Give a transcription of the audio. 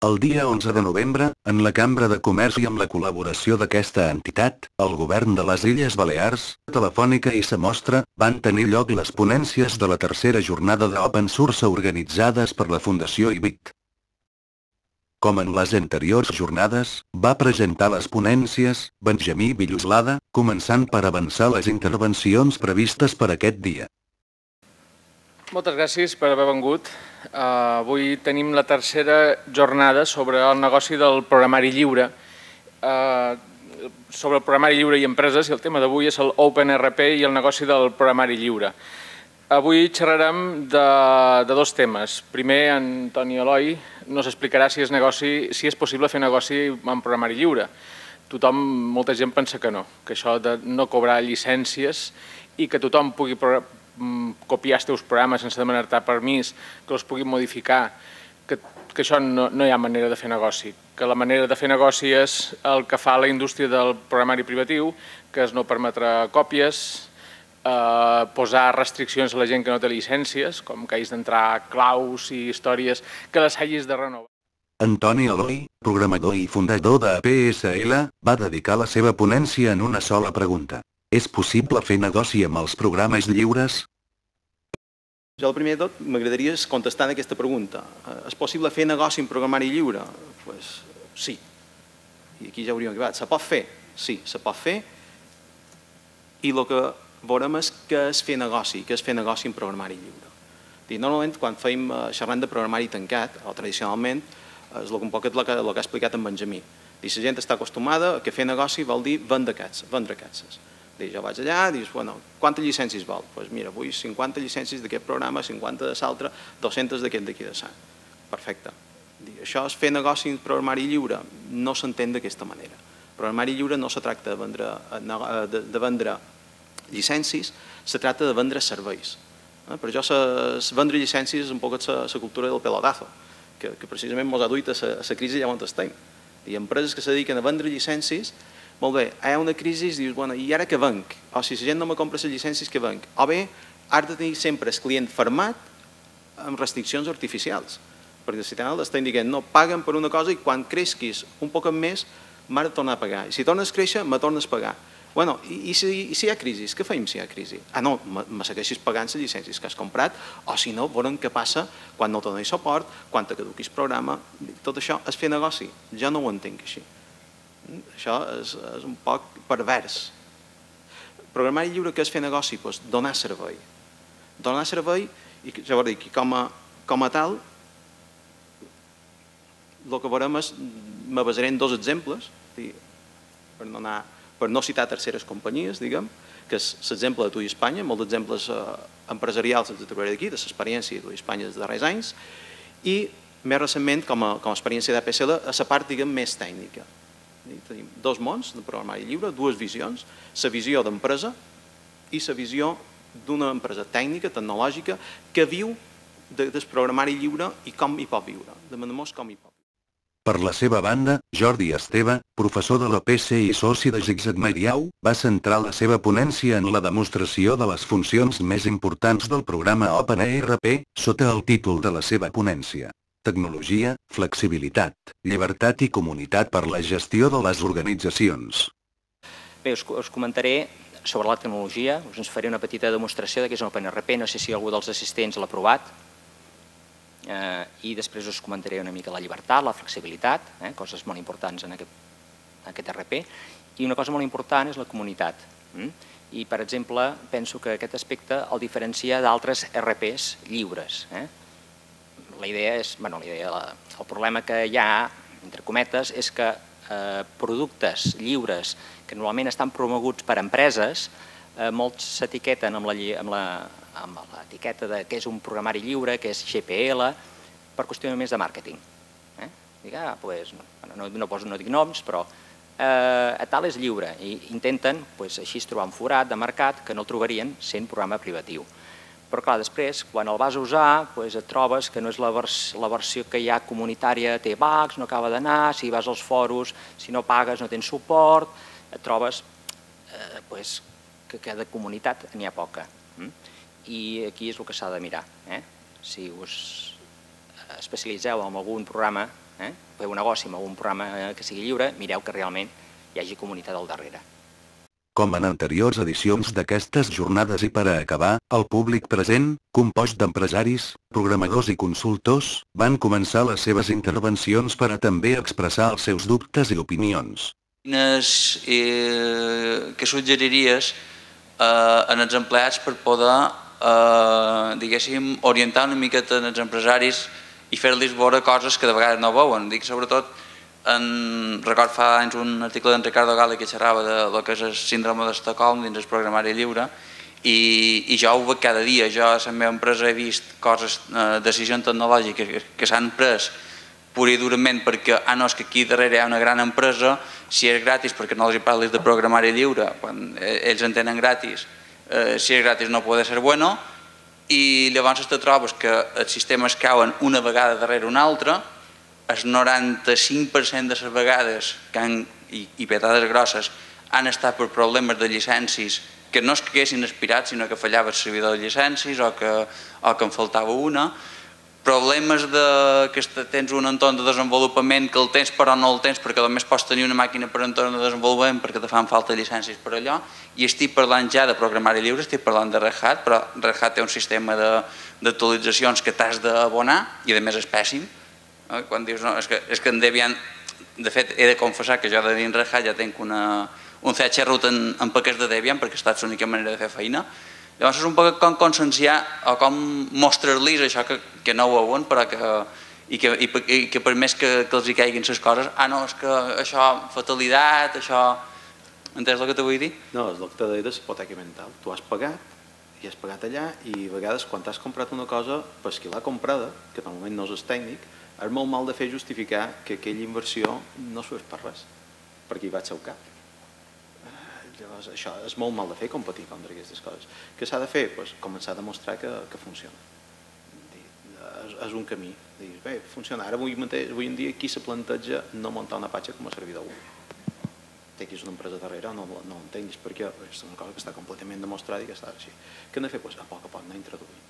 El dia 11 de novembre, en la Cambra de Comerç i amb la col·laboració d'aquesta entitat, el govern de les Illes Balears, Telefònica i Samostra, van tenir lloc les ponències de la tercera jornada d'Open Source organitzades per la Fundació IBIT. Com en les anteriors jornades, va presentar les ponències Benjamí Villoslada, començant per avançar les intervencions previstes per aquest dia. Moltes gràcies per haver vengut. Avui tenim la tercera jornada sobre el negoci del programari lliure. Sobre el programari lliure i empreses, i el tema d'avui és el OpenRP i el negoci del programari lliure. Avui xerrarem de dos temes. Primer, en Toni Eloi nos explicarà si és possible fer negoci amb programari lliure. Molta gent pensa que no, que això de no cobrar llicències i que tothom pugui copiar els teus programes sense demanar-te permís, que els puguin modificar, que això no hi ha manera de fer negoci, que la manera de fer negoci és el que fa la indústria del programari privatiu, que és no permetre còpies, posar restriccions a la gent que no té llicències, com que hagis d'entrar claus i històries, que les hagis de renovar. Antoni Eloi, programador i fundador de PSL, va dedicar la seva ponència en una sola pregunta. És possible fer negoci amb els programes lliures? Jo, el primer de tot, m'agradaria contestar en aquesta pregunta. És possible fer negoci amb programari lliure? Doncs sí. I aquí ja hauríem acabat. Se pot fer? Sí, se pot fer. I el que veurem és què és fer negoci, amb programari lliure. Normalment, quan fem xerrant de programari tancat, o tradicionalment, és un poc el que ha explicat en Benjamí. La gent està acostumada que fer negoci vol dir vendre aquestes. Jo vaig allà i dius, quantes llicències vol? Doncs mira, vull 50 llicències d'aquest programa, 50 de l'altre, 200 d'aquest d'aquí de Sant. Perfecte. Això és fer negoci amb programari lliure? No s'entén d'aquesta manera. Programari lliure no se tracta de vendre llicències, se tracta de vendre serveis. Per això vendre llicències és un poc la cultura del pelotazo, que precisament ens ha duit a la crisi allà on estem. Hi ha empreses que se dediquen a vendre llicències. Molt bé, hi ha una crisi i dius, i ara què venc? O si la gent no me compra les llicències, què venc? O bé, has de tenir sempre el client fermat amb restriccions artificials. Perquè si tenen l'estem dient, no, paguen per una cosa i quan creixis un poc més, m'has de tornar a pagar. I si tornes a créixer, me tornes a pagar. I si hi ha crisi, què fem si hi ha crisi? No, me segueixis pagant les llicències que has comprat, o si no, veurem què passa quan no donis suport, quan te caduquis programa. Tot això és fer negoci. Jo no ho entenc així. Això és un poc pervers. Programari lliure, què és fer negoci? Doncs donar servei. Donar servei, i ja ho dic, com a tal, el que veurem és, me basaré en dos exemples, per no citar terceres companyies, diguem, que és l'exemple de TUI Espanya, molts exemples empresarials els trobaré d'aquí, de l'experiència de TUI Espanya dels darrers anys, i més recentment, com a experiència d'APSL, a la part, diguem, més tècnica. Tenim dos mons de programari lliure, dues visions, la visió d'empresa i la visió d'una empresa tècnica, tecnològica, que viu del programari lliure i com hi pot viure, de manera com hi pot viure. Per la seva banda, Jordi Esteve, professor de l'OPC i soci de Zigzag Mariau, va centrar la seva ponència en la demostració de les funcions més importants del programa OpenERP, sota el títol de la seva ponència. Tecnologia, flexibilitat, llibertat i comunitat per la gestió de les organitzacions. Bé, us comentaré sobre la tecnologia, us faré una petita demostració de què és un OpenRP, no sé si algú dels assistents l'ha provat, i després us comentaré una mica la llibertat, la flexibilitat, coses molt importants en aquest RP, i una cosa molt important és la comunitat. I, per exemple, penso que aquest aspecte el diferencia d'altres RPs lliures. El problema que hi ha, entre cometes, és que productes lliures que normalment estan promoguts per empreses, molts s'etiqueten amb l'etiqueta de què és un programari lliure, què és GPL, per qüestió només de màrqueting. No dic noms, però tal és lliure i intenten així trobar un forat de mercat que no el trobarien sent programa privatiu. Però clar, després, quan el vas a usar, et trobes que no és la versió que hi ha comunitària, té bugs, no acaba d'anar, si vas als foros, si no pagues no tens suport, et trobes que de comunitat n'hi ha poca. I aquí és el que s'ha de mirar. Si us especialitzeu en algun programa, feu un negoci amb algun programa que sigui lliure, mireu que realment hi hagi comunitat al darrere. Com en anteriors edicions d'aquestes jornades i per a acabar, el públic present, compost d'empresaris, programadors i consultors, van començar les seves intervencions per a també expressar els seus dubtes i opinions. Què suggeriries en els empleats per poder, diguéssim, orientar una miqueta els empresaris i fer-los veure coses que de vegades no veuen? Dic sobretot, record fa anys un article d'en Ricardo Gale que xerrava del que és el síndrome d'Estocolm dins el programari lliure i jo ho veig cada dia. Jo a la meva empresa he vist coses, decisions tecnològiques que s'han pres pur i durament perquè no, és que aquí darrere hi ha una gran empresa, si és gratis perquè no els parlis de programari lliure, quan ells en tenen gratis, si és gratis no pot ser bueno, i llavors te trobes que els sistemes cauen una vegada darrere una altra. El 95% de les vegades i petades grosses han estat per problemes de llicències que no es que haguessin aspirat, sinó que fallava el servidor de llicències o que en faltava una. Problemes que tens un entorn de desenvolupament que el tens però no el tens perquè només pots tenir una màquina per entorn de desenvolupament perquè te fan falta llicències per allò. I estic parlant ja de programari lliure, estic parlant de Red Hat, però Red Hat té un sistema d'actualitzacions que t'has d'abonar i a més és pèssim. Quan dius, no, és que en Debian, de fet, he de confessar que jo de dins Red Hat ja tinc un CH root en paquets de Debian perquè ha estat l'única manera de fer feina. Llavors és un poc com conscienciar o com mostrar-los això que no ho veuen i que per més que els hi caiguin les coses, no, és que això, fatalitat, això... Entens el que te vull dir? No, és el que t'he dit de la hipoteca mental. Tu has pagat i has pagat allà i a vegades quan t'has comprat una cosa, per qui l'ha comprada, que normalment no és tècnic, és molt mal de fer justificar que aquella inversió no s'ho és per res, perquè hi va al seu cap. Llavors, això és molt mal de fer, competir contra aquestes coses. Què s'ha de fer? Començar a demostrar que funciona. És un camí. Bé, funciona. Ara avui en dia qui se planteja no muntar una Apache com a servidor web? Té aquí una empresa darrere, no entenguis perquè és una cosa que està completament demostrada i que està així. Què hem de fer? A poc anar introduint.